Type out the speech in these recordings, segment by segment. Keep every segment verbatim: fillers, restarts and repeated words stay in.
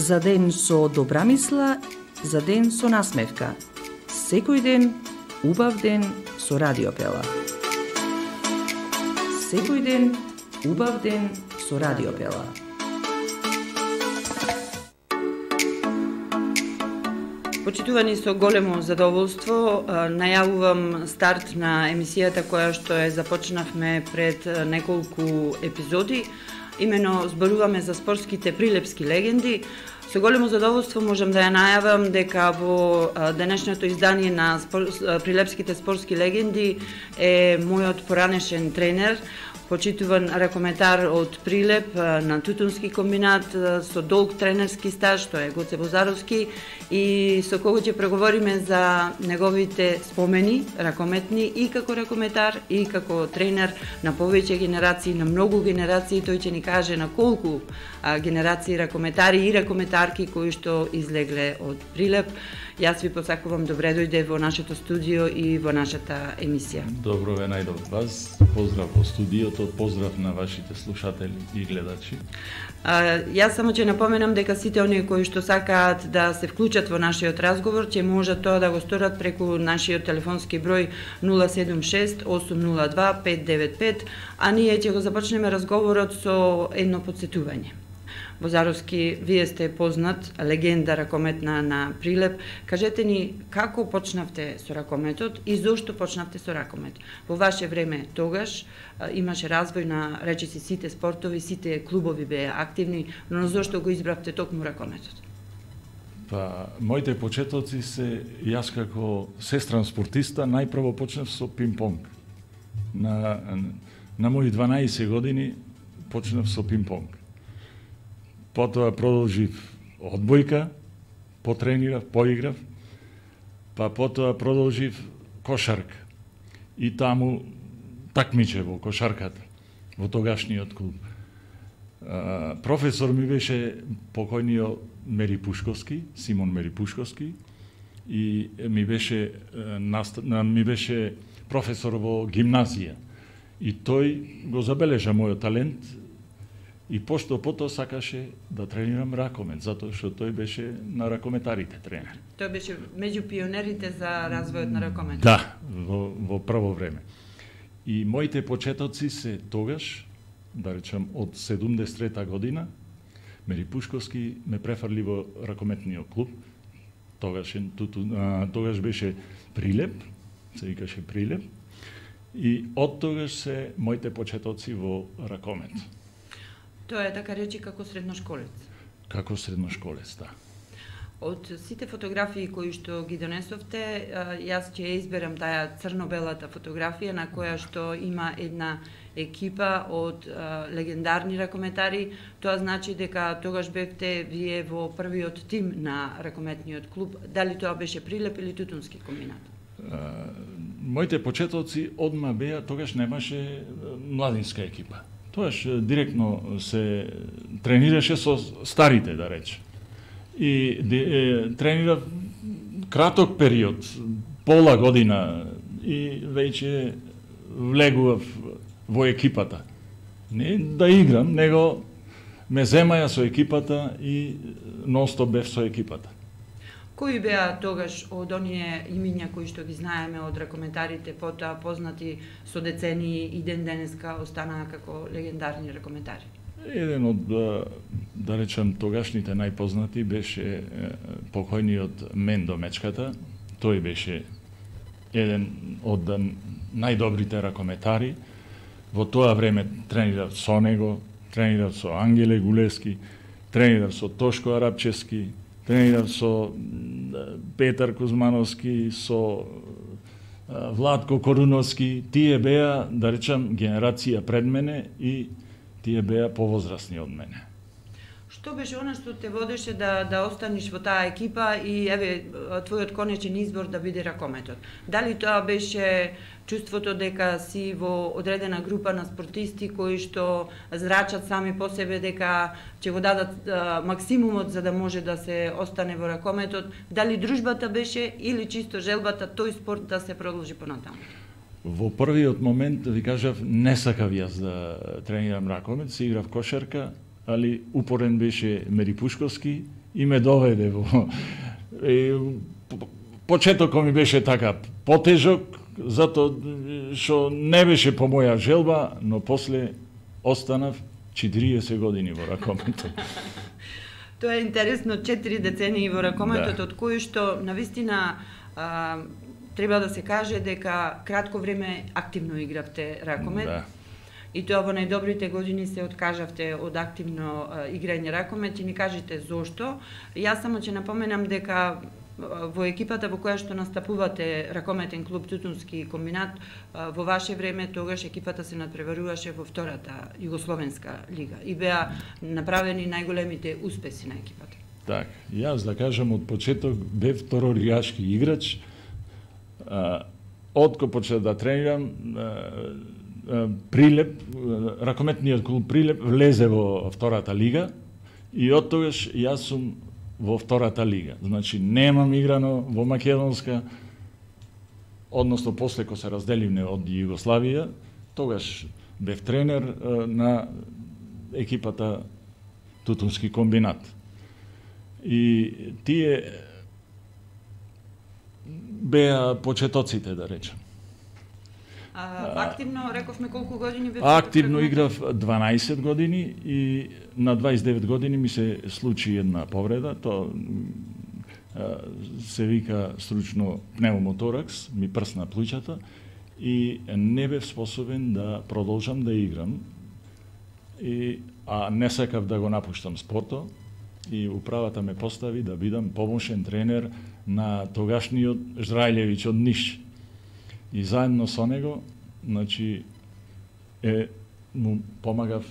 За ден со добра мисла, за ден со насмевка. Секој ден, убав ден со Радио Пела. Секој ден, убав ден со Радио Пела. Почитувани, со големо задоволство најавувам старт на емисијата која што е започнавме пред неколку епизоди. Имено зборуваме за спортските прилепски легенди. Со големо задоволство можам да ја најавам дека во денешното издание на спор... прилепските спортски легенди е мојот поранешен тренер, почитуван ракометар од Прилеп на Тутунски комбинат со долг тренерски стаж, тоа е Гоце Бозаровски, и со кого ќе преговориме за неговите спомени ракометни и како ракометар и како тренер на повеќе генерации, на многу генерации. Тој ќе ни каже на колку а, генерации ракометари и ракометарки кои што излегле од Прилеп. Јас ви посакувам добре дојде во нашето студио и во нашата емисија. Добро ве најдов вас, поздрав во студиото, поздрав на вашите слушатели и гледачи. А, јас само ќе напоменам дека сите оние кои што сакаат да се вклучат во нашиот разговор ќе можат тоа да го сторат преку нашиот телефонски број нула седум шест осум нула два пет девет пет, а ние ќе го започнеме разговорот со едно потсетување. Бозаровски, вие сте познат, легенда ракометна на Прилеп. Кажете ни како почнавте со ракометот и зошто почнавте со ракомет? Во ваше време тогаш а, имаше развој на речиси сите спортови, сите клубови беа активни, но зошто го избравте токму ракометот? Па, моите почетоци се, јас како сестран спортиста, најпрво почнав со пинг-понг. На, на мои дванаесет години почнав со пинг-понг. Потоа продолжив одбојка, потренирав, поиграв, па потоа продолжив кошарка. И таму такмиче во кошарката, во тогашниот клуб. А, професор ми беше покојниот Мери Пушковски, Симон Мери Пушковски, и ми беше, наст... ми беше професор во гимназија. И тој го забележа мојот талент, и пошто потоа сакаше да тренирам ракомет, затоа што тој беше на ракометарите тренер. Тој беше меѓу пионерите за развојот на ракомет. Да, во, во прво време. И моите почетоци се тогаш, да речам од седумдесет и трета година, Мери Пушковски ме префрли во ракометниот клуб. Тогаш, туту, а, тогаш беше Прилеп, се викаше Прилеп. И од тогаш се моите почетоци во ракомет. Тоа е така речи како средношколец. Како средношколец, да. Од сите фотографии кои што ги донесовте, јас ќе изберам таа црно-белата фотографија на која што има една екипа од а, легендарни ракометари. Тоа значи дека тогаш бевте вие во првиот тим на ракометниот клуб. Дали тоа беше Прилеп или Тутунски комбинат? А, моите почетоци одма беа, тогаш немаше младинска екипа. Тоаш директно се тренираше со старите, да рече. И е, тренирав краток период, пола година, и веќе влегував во екипата. Не да играм, него ме земаја со екипата и ностоп бев со екипата. Кои беа тогаш од оние имиња кои што ги знаеме од ракометарите, потоа познати со децении и ден денеска останаа како легендарни ракометари? Еден од, да речем, тогашните најпознати беше покојниот Мендо Мечката. Тој беше еден од најдобрите ракометари. Во тоа време тренирав со него, тренирав со Ангеле Гулески, тренирав со Тошко Арапчевски, тренирав со Петар Кузмановски, со Владко Коруновски. Тие беа, да речам, генерација пред мене и тие беа повозрасни од мене. Што беше она што те водеше да да останеш во таа екипа и еве твојот конечен избор да биде ракометот? Дали тоа беше чувството дека си во одредена група на спортисти кои што зрачат сами по себе дека ќе го дадат а, максимумот за да може да се остане во ракометот? Дали дружбата беше или чисто желбата тој спорт да се продолжи понатаму? Во првиот момент, ви кажав, не сакав јас да тренирам ракомет, си играв кошарка, али упорен беше Мери Пушковски и ме доведе во... И, почетокот ми беше така потежок, затоа што не беше по моја желба, но после останав четириесет години во ракометот. Тоа е интересно, четири децении во ракометот, Да. од кои што навистина а, треба да се каже дека кратко време активно игравте ракомет. Да. И тоа во најдобрите години се откажавте од активно а, играње ракомет и ни кажете зошто. Јас само ќе напоменам дека во екипата во која што настапувате ракометен клуб Тутунски комбинат, во ваше време тогаш екипата се надпреваруваше во втората југословенска лига и беа направени најголемите успеси на екипата. Так, јас да кажам од почеток бев второлигашки играч. Откако почнав да тренирам, Прилеп, ракометниот клуб Прилеп влезе во втората лига и од тогаш јас сум во втората лига. Значи, немам играно во македонска, односно после кога се разделивме од Југославија, тогаш бев тренер на екипата Тутунски комбинат. И тие беа почетоците, да речем. А, активно, рековме колку години бев? Активно играв дванаесет години и на дваесет и девет години ми се случи една повреда, тоа се вика стручно пневмоторакс, ми прсна плуќата и не бев способен да продолжам да играм, и, а не сакав да го напуштам спортот и управата ме постави да бидам помошен тренер на тогашниот Жрајлевиќ од Ниш. И заедно со него, значи, е, му помагав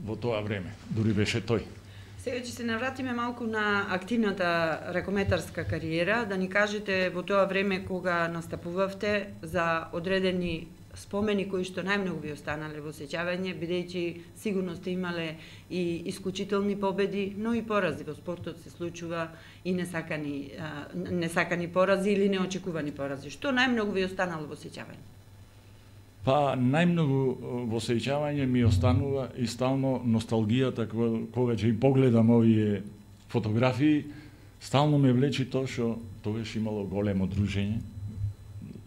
во тоа време, дури беше тој. Сега ќе се навратиме малку на активната ракометарска кариера, да ни кажете во тоа време кога настапувавте за одредени спомени кои што најмногу ви останале во сеќавање, бидејќи сигурно сте имале и исклучителни победи, но и порази во спортот се случува и несакани, несакани порази или неочекувани порази. Што најмногу ви останало во сеќавање? Па, најмногу во сеќавање ми останува и стално носталгијата кога ќе и погледам овие фотографии, стално ме влечи тоа што тогаш имало големо дружење.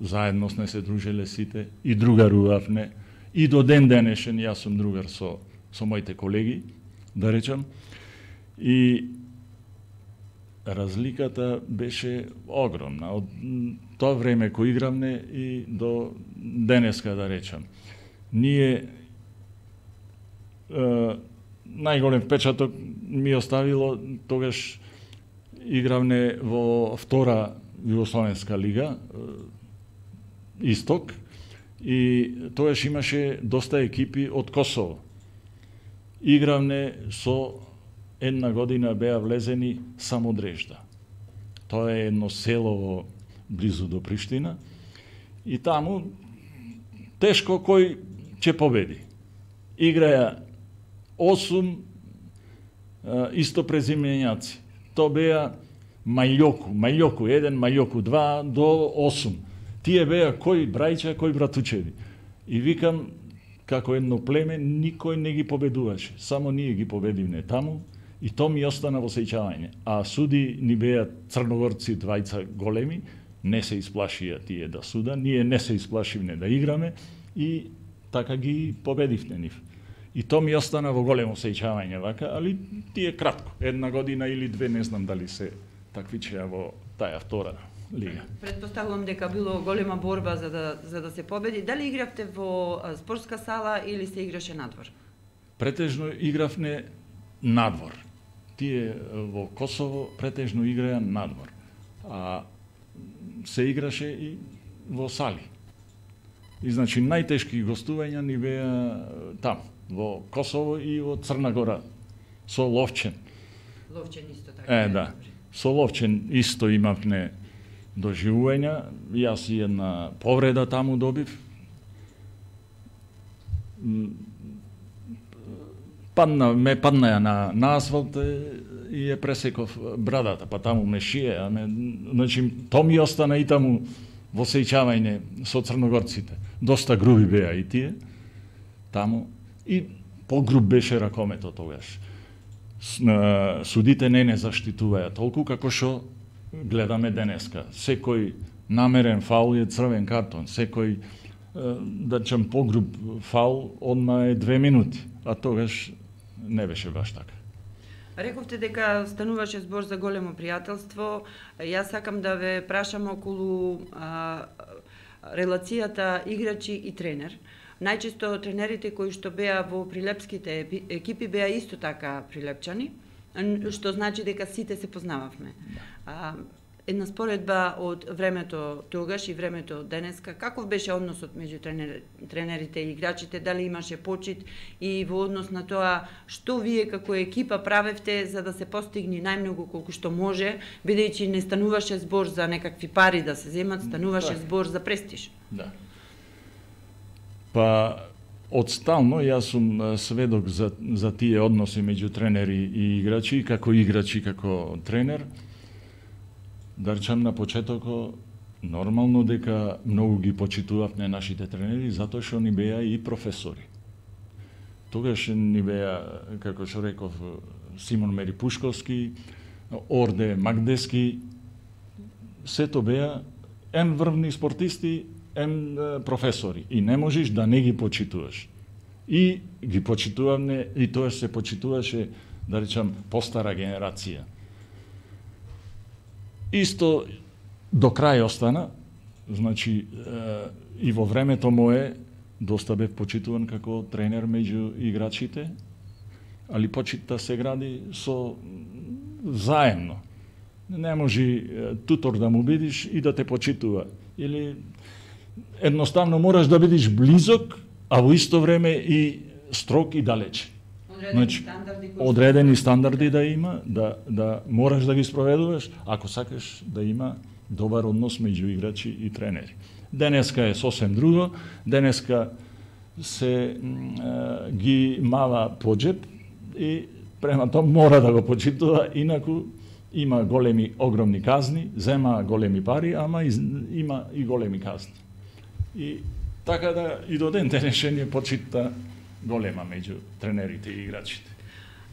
Заедно сме се дружеле сите и другарувавме. И до ден денешен јас сум другар со, со моите колеги, да речам. И разликата беше огромна. Од тоа време кој игравме и до денеска, да речам. Ние е, најголем впечаток ми оставило тогаш игравне во втора Југословенска лига, Исток, и тогаш имаше доста екипи од Косово. Игравне со една година беа влезени Самодрежда. Тоа е едно село близу до Приштина и таму тешко кој ќе победи. Играја осум исто презименјаци. Тоа беа Мајоку, Мајоку еден, Мајоку два до осум. Тие беа кој брајча, кој братучеви. И викам, како едно племе, никој не ги победуваше. Само ние ги победивме таму и то ми остана во сеќавање. А суди ни беа црногорци двајца големи, не се исплашија тие да суда, ние не се исплашивме да играме и така ги победивме нив. И то ми остана во големо сеќавање вака, али тие кратко, една година или две, не знам дали се таквичеа во таја втора лига. Предпоставувам дека било голема борба за да, за да се победи. Дали игравте во спортска сала или се играше надвор? Претежно игравне надвор. Тие во Косово претежно играја надвор. А се играше и во сали. И значи најтешки гостувања ни беа таму, во Косово и во Црна Гора, со Ловчен. Ловчен исто така. Е, да. Со Ловчен исто имавме доживувања, јас и една повреда таму добив. Падна, ме паднаја на, на асфалт и ја пресеков брадата, па таму ме шие, а ме, значи, то ми остана и таму во сеќавање со црногорците. Доста груби беа и тие, таму, и погруб беше ракометот тогаш. судите не не заштитуваат толку како што гледаме денеска. Секој намерен фаул е црвен картон, секој да речем погруб фаул одма е две минути, а тогаш не беше баш така. Рековте дека стануваше збор за големо пријателство. Јас сакам да ве прашам околу а, релацијата играчи и тренер. Најчесто тренерите кои што беа во прилепските екипи беа исто така прилепчани, што значи дека сите се познававме. А, една споредба од времето тогаш и времето денеска, каков беше односот меѓу тренер, тренерите и играчите, дали имаше почит и во однос на тоа што вие како екипа правевте за да се постигне најмногу колку што може, бидејќи не стануваше збор за некакви пари да се земат, стануваше да. збор за престиж. Да. Па одстално јас сум сведок за, за тие односи меѓу тренери и играчи, како играчи, како тренер. Да речам на почетокот, нормално дека многу ги почитувавме нашите тренери, затоа што ни беа и професори. Тогаш ни беа, како што реков, Симон Мерипушковски, Орде Магдески, сето беа ем врвни спортисти, ем професори. И не можеш да не ги почитуваш. И ги почитуваме, и тоа се почитуваше, да речам, постара генерација. Исто до крај остана, значи и во времето мое доста бев почитуван како тренер меѓу играчите, али почитта се гради со заемно. Не може тутор да му бидиш и да те почитува. Или едноставно мораш да бидиш близок, а во исто време и строг и далеч. Одредени, значи, стандарди, одредени стандарди да има, да, да мораш да ги спроведуваш, ако сакаш да има добар однос меѓу играчи и тренери. Денеска е сосем друго, денеска се е, ги мава по джеб и према тоа мора да го почитува, инаку има големи, огромни казни, зема големи пари, ама има и големи казни. И така да и до ден денешен е почитта голема меѓу тренерите и играчите.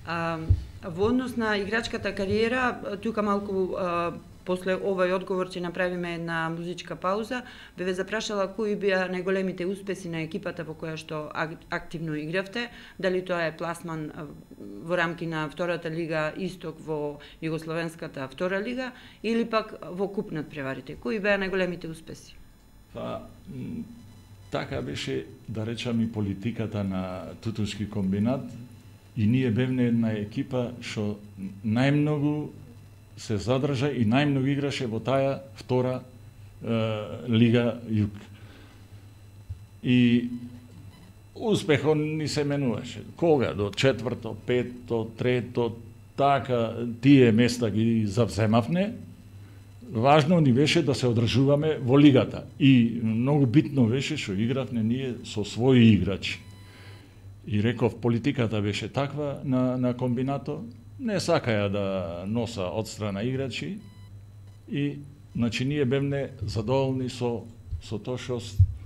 А, во однос на играчката кариера, тука малку а, после овој одговор ќе направиме една музичка пауза, бе ве запрашала кои беа најголемите успеси на екипата во која што активно игравте, дали тоа е пласман во рамки на втората лига Исток во Југословенската втора лига или пак во куп надпреварите. Кои беа најголемите успеси? Па, така беше, да речам, и политиката на Тутунски комбинат, и ние бевме една екипа што најмногу се задржа и најмногу играше во таа втора е, лига Југ. И успехот ни се менуваше. Кога? До четврто, петто, трето, така, тие места ги завземавне. Важно ни беше да се одржуваме во лигата. И многу битно беше што игравме ние со своји играчи. И реков, политиката беше таква на, на комбинато, не сакаја да носа од страна играчи и значи ние бевме задоволни со со тоа што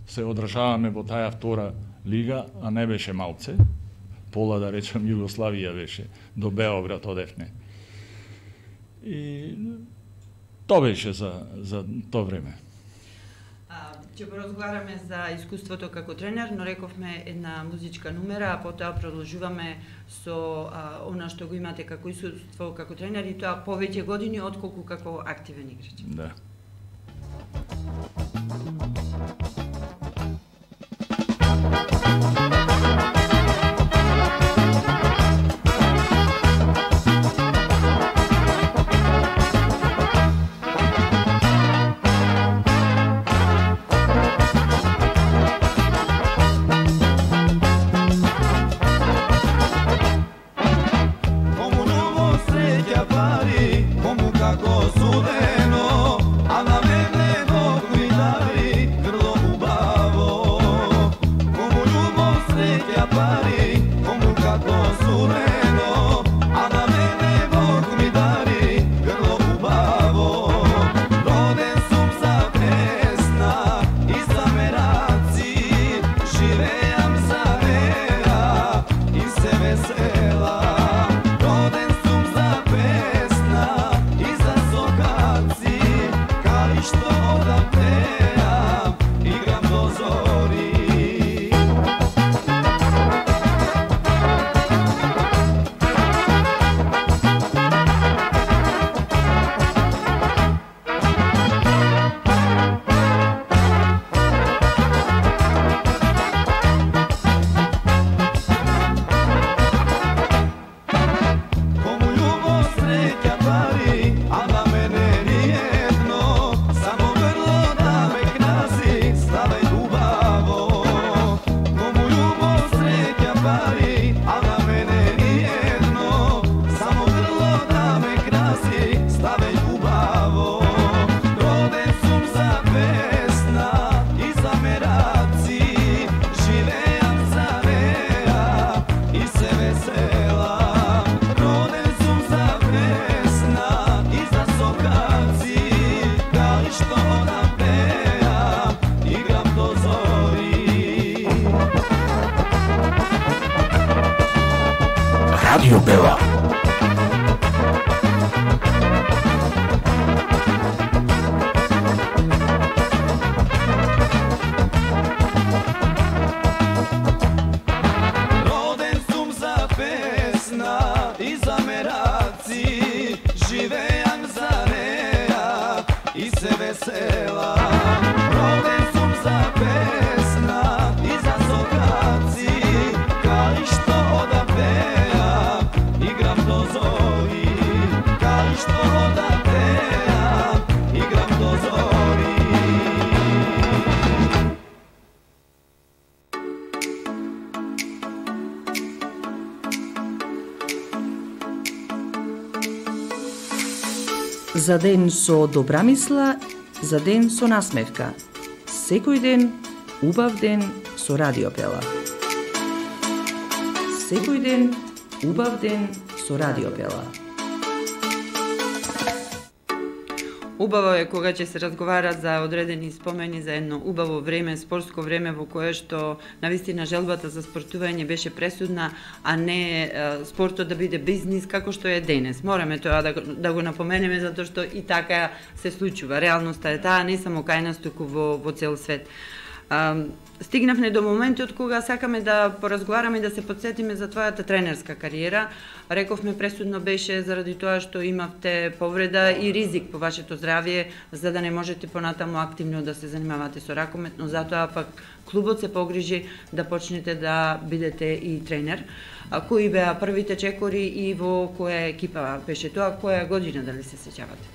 се одржаваме во таа втора лига, а не беше малце. Пола, да речем, Југославија беше, до Београд одевне. И тоа беше за, за тоа време. Ќе поразговараме за искуството како тренер, но рековме една музичка numera, а потоа продолжуваме со а, она што го имате како искуство како тренер и тоа повеќе години отколку како активен играч. Да. Rodem Радио Бела. За ден со добра мисла, за ден со насмевка. Секој ден, убав ден со Радио Бела. Секој ден, убав ден со Радио Бела. Убаво е кога ќе се разговара за одредени спомени за едно убаво време, спортско време во кое што навистина желбата за спортување беше пресудна, а не е, спортот да биде бизнис како што е денес. Мораме тоа да, да го напоменеме затоа што и така се случува. Реалноста е таа не само кај нас, туку во, во цел свет. А, стигнавме до моментот кога сакаме да поразговараме и да се подсетиме за твојата тренерска кариера. Рековме пресудно беше заради тоа што имавте повреда и ризик по вашето здравје, за да не можете понатаму активно да се занимавате со ракомет, но затоа пак клубот се погрижи да почнете да бидете и тренер. А кои беа првите чекори и во која екипа беше тоа, која година, дали се сеќавате?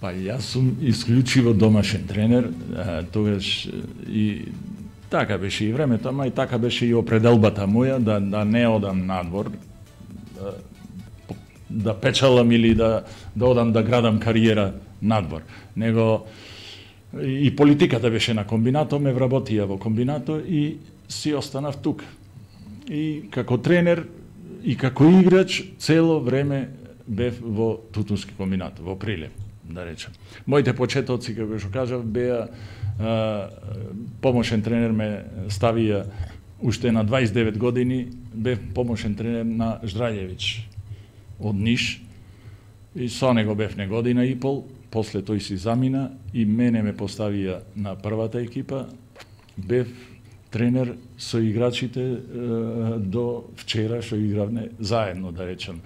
Па јас сум исклучиво домашен тренер, а, тогаш и така беше и времето, ама и така беше и определбата моја да, да не одам надвор, да, да печалам или да, да одам да градам кариера надвор. Него и политиката беше на комбинато, ме вработија во комбинато и си останав тука. И како тренер и како играч цело време бев во Тутунски комбинат, во Прилеп, да речем. Моите почетоци, како што кажав, беа а, помошен тренер ме ставија уште на дваесет и девет години, бев помошен тренер на Ждралјевич од Ниш и со него бев не година и пол, после тој си замина и мене ме поставија на првата екипа, бев тренер со играчите е, до вчера што игравме заедно, да речем,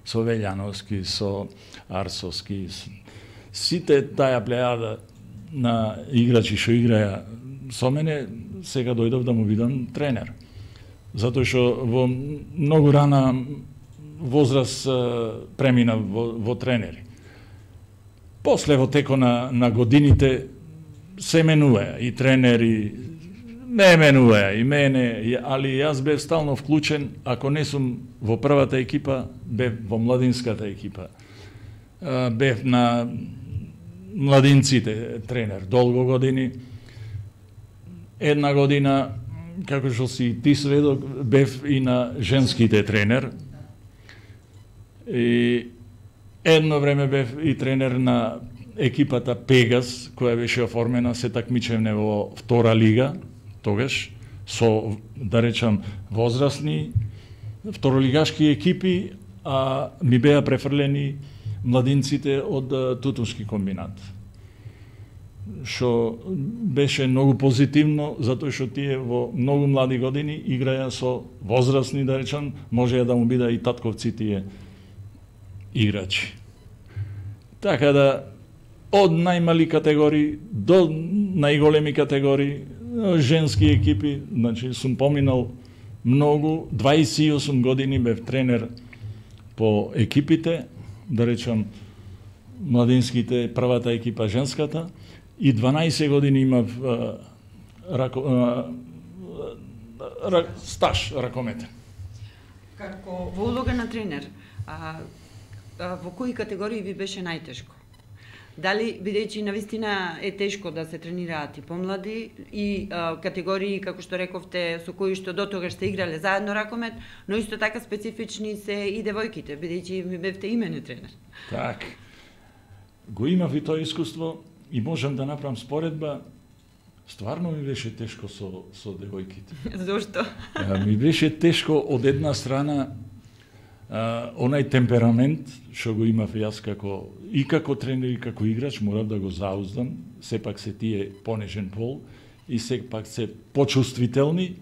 со Велјановски, со Арсовски, сите таја плејада на играчи што играја со мене, сега дојдов да му бидам тренер. Затоа што во многу рана возраст премина во, во тренери. После во теко на, на годините се менуваја и тренери, не менуваја и мене, али јас бев стално вклучен, ако не сум во првата екипа, бев во младинската екипа. Бев на младинците тренер долго години. Една година, како што си ти сведок, бев и на женските тренер. И едно време бев и тренер на екипата Пегас, која беше оформена, се такмичевне во втора лига, тогаш, со, да речам, возрастни второлигашки екипи, а ми беа префрлени младинците од Тутунски комбинат. Што беше многу позитивно, затоа што тие во многу млади години играја со возрастни, да речам, можеја да му бида и татковци тие играчи. Така да, од најмали категории до најголеми категории, женски екипи, значи сум поминал многу, дваесет и осум години бев тренер по екипите, да речам, младинските, првата екипа, женската, и дванаесет години имав а, рако, а, а, стаж ракометен. Како во улога на тренер, а, а, во кои категории ви беше најтешко? Дали, бидејќи навистина е тешко да се тренираат и помлади и а, категории, како што рековте, со кои што до тогаш сте играле заедно ракомет, но исто така специфични се и девојките, бидејќи ми бевте имене тренер. Так. Го имав и тоа искуство и можам да направам споредба. Стварно ми беше тешко со, со девојките. Зошто? Ми беше тешко од една страна, а, онај темперамент што го имав јас како и како тренер и како играч, морав да го зауздам. Сепак се тие понежен пол и сепак се почувствителни.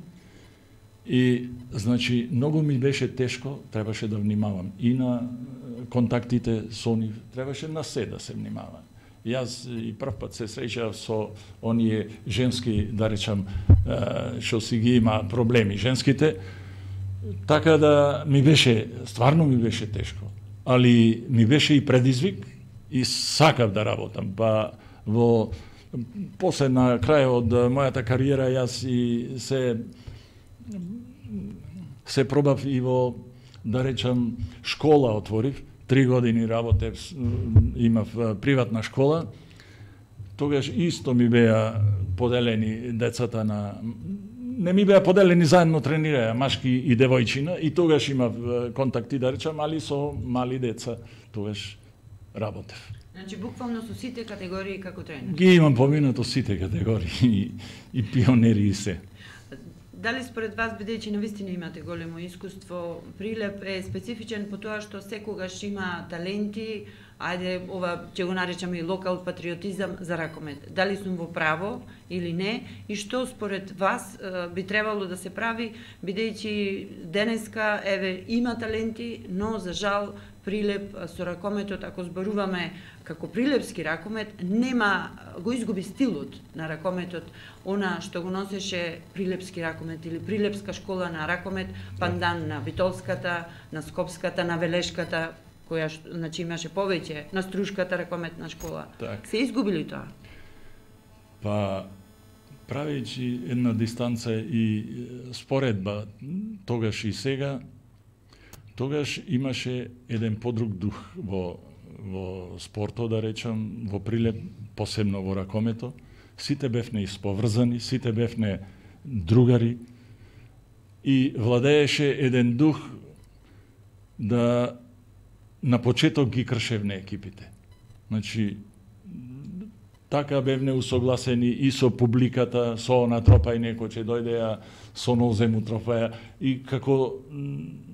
И значи многу ми беше тешко, требаше да внимавам и на контактите со нив, требаше на се да се внимава. Јас и прв пат се среќав со оние женски, да речам, што си ги има проблеми женските, така да ми беше, стварно ми беше тешко, али ми беше и предизвик и сакав да работам. Па во после на крај од мојата кариера јас и се се пробав и во, да речам, школа отворив. Три години работев, имав приватна школа. Тогаш исто ми беа поделени децата на... Не ми беа поделени, заедно тренираја машки и девојчина, и тогаш имав контакти, да речам, али со мали деца тогаш работев. Значи, буквално со сите категории како тренер? Ги имам поминато сите категории, и, и пионери и се. Дали според вас, бидејќи навистина имате големо искуство, Прилеп е специфичен по тоа што секогаш има таленти, ајде ова ќе го наречаме и локал патриотизам за ракомет. Дали сум во право или не и што според вас би требало да се прави, бидејќи денеска еве има таленти, но за жал Прилеп со ракометот, ако зборуваме како прилепски ракомет, нема, го изгуби стилот на ракометот, она што го носеше прилепски ракомет или прилепска школа на ракомет, пандан на Битолската, на Скопската, на Велешката, која значи имаше повеќе, на Струшката ракометна школа. Так. Се изгубили тоа? Па правејќи една дистанца и споредба тогаш и сега, тогаш имаше еден подруг дух во во спортот, да речам, во Прилеп, посебно во ракомето. Сите бевне исповрзани, сите бевне другари и владееше еден дух да на почеток ги кршевне екипите. Значи, така бевне усогласени и со публиката, со она тропај некој ќе дојдеа, со нозему тропаја, и како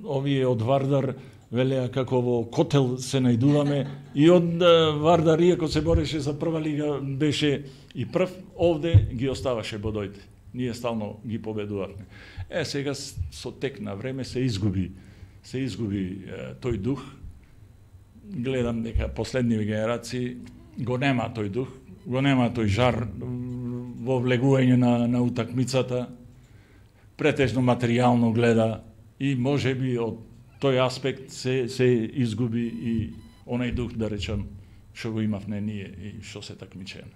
овие од Вардар велеа како во котел се најдуваме, и од Вардар, иако се бореше за прва лига, беше и прв, овде ги оставаше бодојте. Ние стално ги победувавме. Е, сега со тек на време се изгуби, се изгуби е, тој дух. Гледам дека последниви генерации го нема тој дух, го нема тој жар во влегување на, на утакмицата, претежно материјално гледа и можеби од тој аспект се, се изгуби и онај дух, да речам, што го имавме ние и што се такмичеме.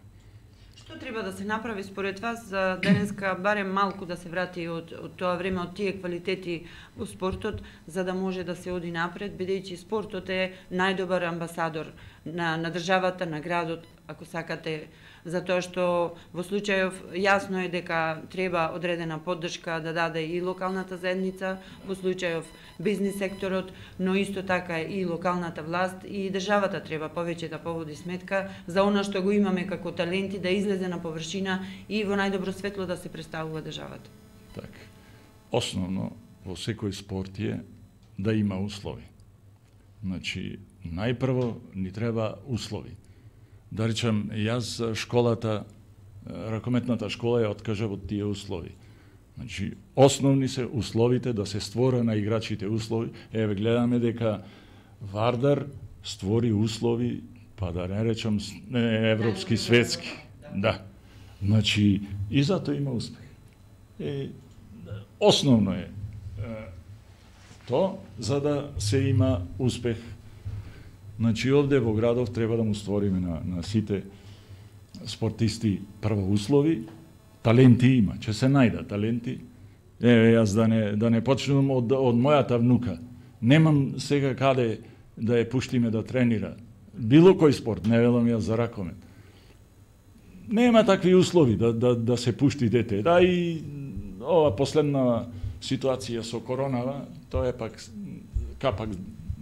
Што треба да се направи според вас за денеска барем малку да се врати од, од тоа време, од тие квалитети во спортот, за да може да се оди напред, бидејќи спортот е најдобар амбасадор на, на државата, на градот, ако сакате, затоа што во случајов јасно е дека треба одредена поддршка да даде и локалната заедница, во случајов бизнис секторот, но исто така и локалната власт и државата треба повеќе да поводи сметка за она што го имаме како таленти, да излезе на површина и во најдобро светло да се представува државата. Так. Основно во секој спорт е да има услови. Значи, најпрво ни треба услови. Да речам, јас школата, ракометната школа ја откажав од тие услови. Значи, основни се условите да се створа на играчите услови. Еве, гледаме дека Вардар створи услови, па да не речам европски, светски. Да. Значи, и затоа има успех. Е, основно е, е то, за да се има успех. Значи, овде во градов треба да му створиме на, на сите спортисти прво услови. Таленти има, ќе се најдат таленти. Еве, јас да не, да не почнувам од, од мојата внука. Немам сега каде да ја пуштиме да тренира. Било кој спорт, не велам јас за ракомет. Нема такви услови да, да, да се пушти дете. Да, и ова последна ситуација со коронава, тоа е пак капак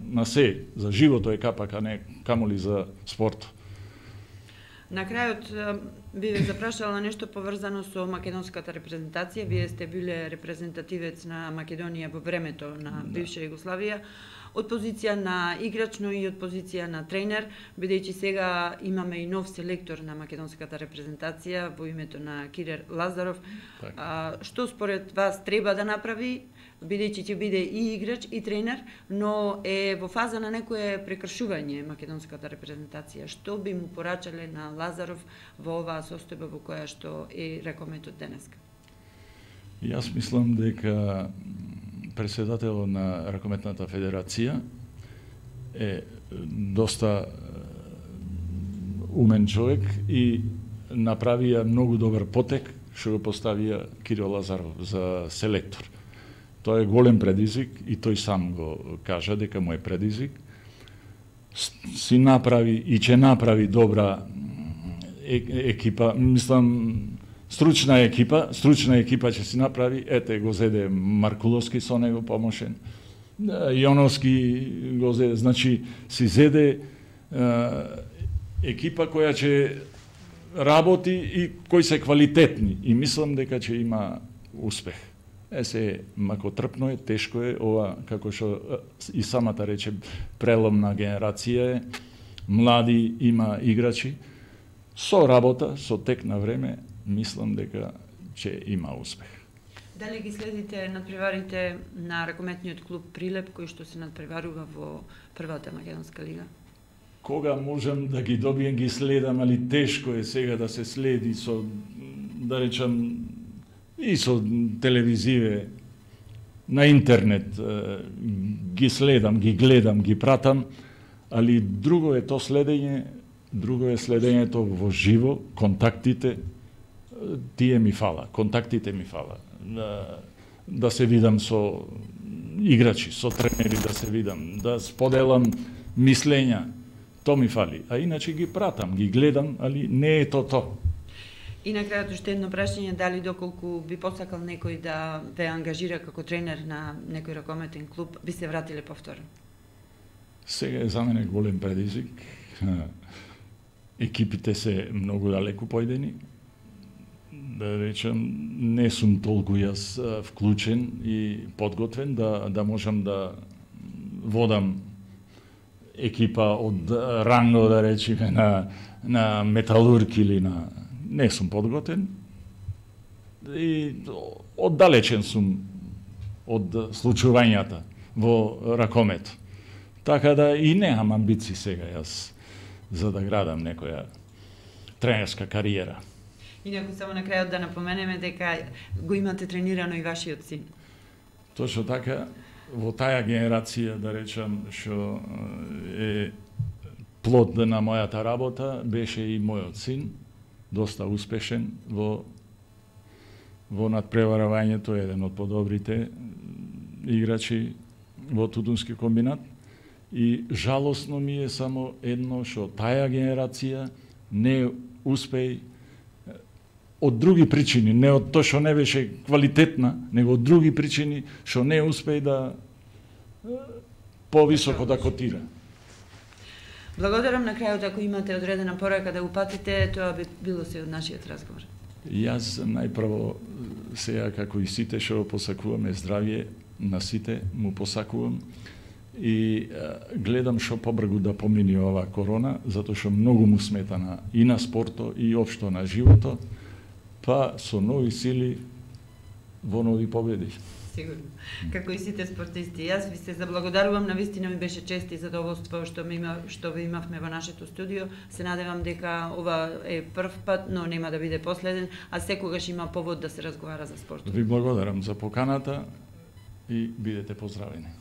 на се, за живото е капак, а не камоли за спорт. На крајот, би ве запрашала нешто поврзано со македонската репрезентација. Вие сте биле репрезентативец на Македонија во времето на бивша Југославија, од позиција на играч, но и од позиција на тренер, бидејќи сега имаме и нов селектор на македонската репрезентација во името на Кирер Лазаров. А, што според вас треба да направи, бидејќи ќе биде и играч и тренер, но е во фаза на некое прекршување македонската репрезентација? Што би му порачале на Лазаров во оваа состојба во која што е ракометот денеска? Јас мислам дека председателот на Ракометната федерација е доста умен човек и направија многу добар потек што го поставија Кирил Лазаров за селектор. Тоа е голем предизвик и тој сам го кажа дека му е предизвик. Си направи и ќе направи добра екипа, мислам стручна екипа, стручна екипа ќе си направи. Ете го зеде Маркуловски со него помошен. Јоновски го зеде, значи си зеде е, екипа која ќе работи и кои се квалитетни и мислам дека ќе има успех. Е се, мако трпно е, тешко е, ова, како што и самата рече, преломна генерација е, млади има играчи, со работа, со тек на време, мислам дека ќе има успех. Дали ги следите надпреварите на ракометниот клуб Прилеп, кој што се надпреварува во првата македонска лига? Кога можам да ги добием, ги следам, али тешко е сега да се следи со, да речам, и со телевизиве, на интернет, ги следам, ги гледам, ги пратам, али друго е то следење, друго е следењето во живо, контактите, тие ми фала, контактите ми фала. Да, да се видам со играчи, со тренери, да се видам, да споделам мислења, то ми фали. А иначе ги пратам, ги гледам, али не е то то. И на крајот уште едно прашање, дали доколку би посакал некој да ве ангажира како тренер на некој ракометен клуб, би се вратиле повторно? Сега е за мене голем предизвик. Екипите се многу далеку појдени. Да речем, не сум толку јас вклучен и подготвен да, да можам да водам екипа од ранго, да речеме, на, на Металург или на... Не сум подготвен и оддалечен сум од случувањата во ракомет. Така да и немам амбиции сега јас за да градам некоја тренерска кариера. Инаку само на крајот да напоменеме дека го имате тренирано и вашиот син. Точно така, во таа генерација, да речам, што е плод на мојата работа, беше и мојот син, доста успешен во во надпреварувањето, еден од подобрите играчи во Тутунски комбинат. И жалосно ми е само едно, што таа генерација не успеј од други причини, не од тоа што не беше квалитетна, него од други причини што не успеј да повисоко да котира. Благодарам. На крајот, ако имате одредена порака да упатите, тоа би било се од нашиот разговор. Јас најпрво сега, како и сите што посакуваме здравје на сите, му посакувам и гледам што побргу да помини ова корона, затоа што многу му смета на, и на спорто и општо на живото, па со нови сили во нови победи. Сигурно. Како и сите спортисти. Јас ви се заблагодарувам, навистина ми беше чест и задоволство што ми има, што ви имавме во нашето студио. Се надевам дека ова е прв пат, но нема да биде последен, а секогаш има повод да се разговара за спортот. Ви благодарам за поканата и бидете поздравени.